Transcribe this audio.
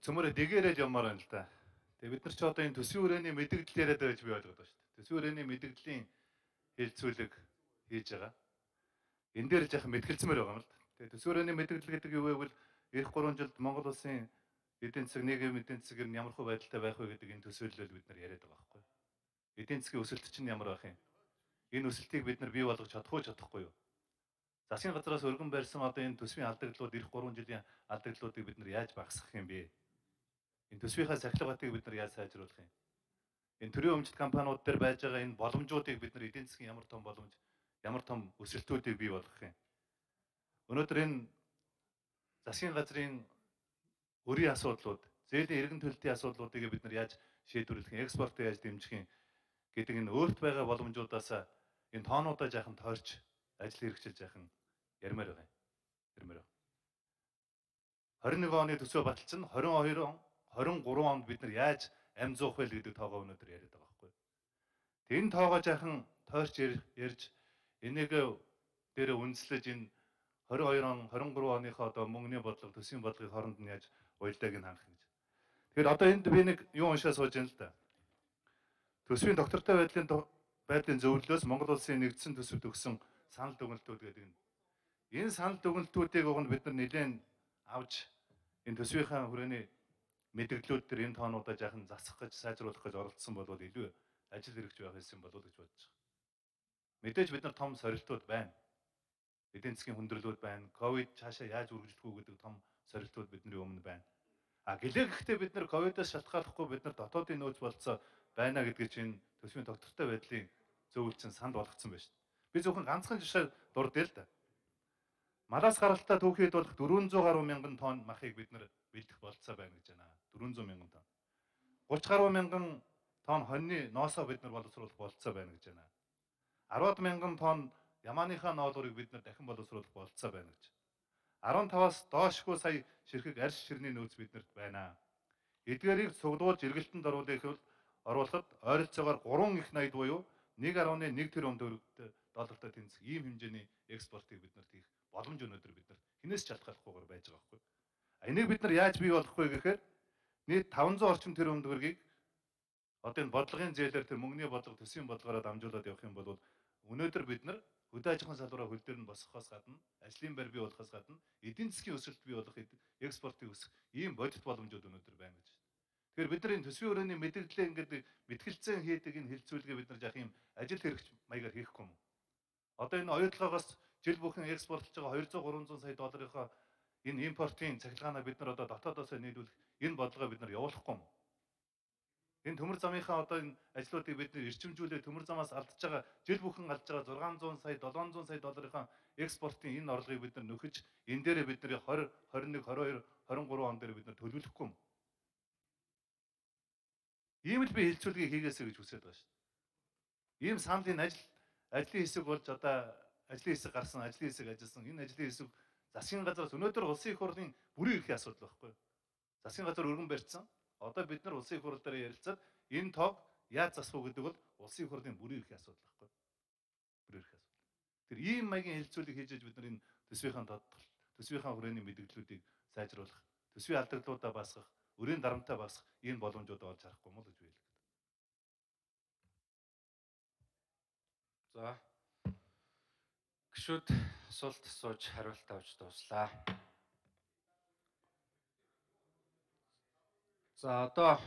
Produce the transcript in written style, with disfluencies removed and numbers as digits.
цөмөрө дэгээрэл явмаар байна л да. Тэгээ бид нар ч одоо энэ төсвийн хүрээний мэдээлэл яриад байж би ойлгоод байна шүү дээ. Төсвийн хүрээний мэдээллийн хэлцүүлэг хийж байгаа. Энэ дээр жаахан мэтгэлцмээр байгаа юм л да. Тэгээ төсвийн хүрээний мэдээлэл гэдэг юу вэ гэвэл эх 3 жилд Монгол улсын эдийн засаг нийгмийн эдийн засаг нь ямар хөө байдалтай байх вэ гэдэг энэ төсөөллөөр бид нар яриад байгаа байхгүй юу? Эдийн засгийн өсөлт чинь ямар байх юм? Энэ өсөлтийг бид нар бий болгож чадах уу чадахгүй юу? Засгийн газраас өргөн барьсан одоо энэ төсвийн алдагдлууд эх 3 жилийн алдагдлуудыг бид нар яаж багасгах юм бэ? Энэ төсвийнхаа сахилгатыг бид нар яаж сайжруулах юм? Энэ төрийн өмчт компаниуд дээр байж байгаа энэ боломжуудыг бид нар эдийн засгийн ямар том боломж, ямар том өсөлтүүдийг бий болгох юм? Өнөөдөр энэ засгийн газрын өрийн асуудлууд, зээлийн эргэн төлөлтийн асуудлуудыг бид нар яаж шийдвэрлэх юм, экспортыг яаж дэмжих юм гэдэг энэ өөрт байгаа боломжуудаас энэ тоонуудаа жаахан тойрч ажил хэрэгжил жаахан ярмаар байгаа юм. Ярмаар байна. 21 оны төсөө баталсан 22 он 23 онд бид нар яаж амь зуух вэ гэдэг тоогоо өнөөдөр яриад байгаа байхгүй юу. Энэ тоогоо жаахан тойрч ярьж энийг дээрээ үндэслэж энэ 22 он 23 оныхоо одоо мөнгөний бодлого төсвийн бодлогын хооронд нь яаж уялдааг нь хангах гэж. Тэгэхээр одоо энд би нэг юу уншаа сууж байна л да. Төсвийн доктортой байдлын зөвлөлөөс Монгол улсын нэгдсэн төсөвт өгсөн санал дүгнэлтүүд гэдэг нь. Энэ санал дүгнэлтүүдийг уг нь бид нар нэлээд авч энэ төсвийнхаа хүрээний мэдээллүүд төр энэ тоонуудаа жаахан засах гэж сайжруулах гэж оролцсон бол илүү ажил хэрэгж байх байсан болов уу гэж бодож байгаа. Мэдээж бид нар том сорилтууд байна. Эдийн засгийн хүндрэлүүд байна. Ковид цаашаа яаж үргэлжлэх үү гэдэг том сорилтууд бидний өмнө байна. Гэлээ гэхдээ бид нар ковидоос шалтгааллахгүй бид нар дотоодын нөөц болцоо байна гэдгийг чинь төсвийн доктортой байдлын зөвлөлтсөн санд болгоцсон байна шүү дээ. Би зөвхөн ганцхан жишээ дурдъя л да. Малаас гаралтай түүхийд болох 400 гаруй мянган тонн махыг бид нар бэлдэх болцоо байна гэж байна. 400 мянган тонн. 30 гаруй мянган тонн хоньны ноосоо бид нар боловсруулах болцоо байна гэж байна. 10 мянган тонн ямааныхаа ноолуурыг бид нар дахин боловсруулах болцоо байна гэж. 15-аас доошгүй сая ширхэг арьс ширний нөөц биднэрт байна. Эдгээрийг цуглуулж эргэлтэнд оруулахад ойролцоогоор 3 их найд буюу 1.1 тэрбум доллартай тэнцэх ийм хэмжээний экспортыг бид нарт хийх боломж өнөөдөр бид нарт хинээс шалтгааллахгүйгээр байж байгаа байхгүй. Энийг бид нар яаж бий болгох вэ гэхээр нийт 500 орчим тэрбум төгрөгийг одоо энэ бодлогын зээлээр тэр мөнгөний бодлого төсвийн бодлогоор дамжуулаад явах юм бол өнөөдөр бид нар хөдөө аж ахуйн салбараа хөл дээр нь босгохоос гадна, ажлын байр бий болохоос гадна, эдийн засгийн өсөлт бий болох экспортыг өсгөх ийм бодит боломжууд өнөөдөр байна гэж. Тэгэхээр бид нар энэ төсвийн хүрээний мэдээлэлээ ингээд мэтгэлцэн хийдэг энэ хилцүүлгээ бид нар яах юм ажил хэрэгч маягаар хийхгүй юм. Одоо энэ оюутлагоос жил бүхэн экспортлж байгаа 200-300 сая долларынхаа энэ импортын цахилгаанаа бид нар одоо дотоодоос нийлүүлэх энэ бодлогоо бид нар явуулахгүй юм. Энэ төмөр замынхаа одоо энэ ажлуудыг бид нэр эрчимжүүлээ төмөр замаас алдж байгаа жил бүхэн алдж байгаа 600 сая 700 сая долларынхаа экспортын энэ орлогыг бид нар нөхөж энэ дээрээ бид нар 20 21 22 23 он дээр бид нар төлөвлөхгүй юм. Ийм л би хилцүүлгийг хийгээсэй гэж хүсэж байгаа шүү дээ. Ийм саналын ажлын хэсэг болж одоо ажлын хэсэг гарсан, ажлын хэсэг ажилласан. Энэ ажлын хэсэг засгийн газраас өнөөдөр улсын их хурлын бүрийн эрхийн асуудал байхгүй юу? Засгийн газар өргөн барьсан. Одоо бид нар улсын их хурл дээр ярилцаад энэ тоог яаж засах уу гэдэг бол улсын их хурлын бүрийн эрхийн асуудал байхгүй юу? Бүрийн эрхийн асуудал. Тэр ийм маягийн хилцүүлэг хийж бид нар энэ төсвийнхаа хүрээний мэдээллүүдийг сайжруулах, төсвийн алдагдлуудаа басгах, өрийн дарамтаа басгах ийм боломжууд олж харахгүй юм уу гэж би хэлэх. За. Гишүүд суулт сууж хариулт авч дуслаа. За одоо